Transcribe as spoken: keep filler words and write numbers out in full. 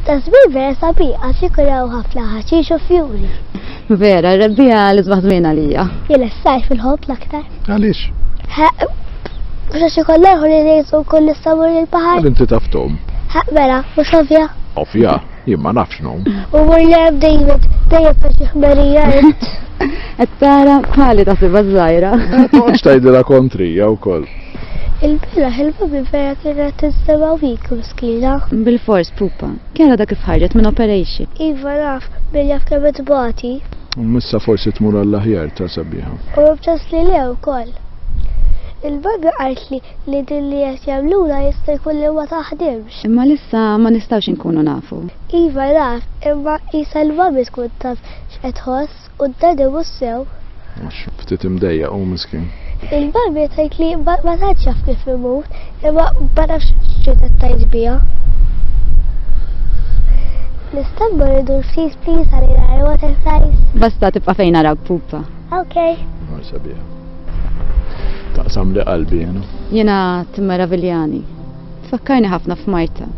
Ta' żmien vera sabiħ għax ikun hawn ħafna ħaxix u fjuri. Vera, rebbiegħa l-isbaħ żmien għalija. Jiena s-sajf inħobb l-aktar. Għaliex? Mhux għax ikollna holidays u nkun nistgħu mmur il-baħar. Għal inti taf tgħum. Ha, mela, mhux ovvja. Ovvja, jien ma nafx ngħum. U mur lem David, dejjem ta' xi ħmerija int. Qed tara bħali taħsibha żgħira. Toqgħodx tgħidilha kontrija wkoll. Il-bieraħ il-mami vera kienet tinstema' weak miskina. Bil-fors pupa. Kien għadha kif ħarġet minn operation. Iva naf, min jaf kemm tbati. Missa forsi tmur għall-aħjar ta' sabiħa. U bċas li le wkoll. Il-mami qaltli li din li qed jagħmlula jista' jkun li ma taħdimx. Imma lissa ma nistgħux inkunu nafu. Iva naf, imma qisha l-mami tkun taf x'qed tħoss u d-daddy mhux sew. Għax ftit imdejjaq u miskin. Il-mami tgħid li ma ma tantx jaf kif imut, imma ma nafx x'qed tgħid biha. Nista' mmur idur ftit please ħalli nara butterflies. Basta tibqa' fejn narak pupa. Okay. Mar sabiħa. Taqsam li qalbi jena. Jiena timmeraviljani. Tfakkarni ħafna f'Marta.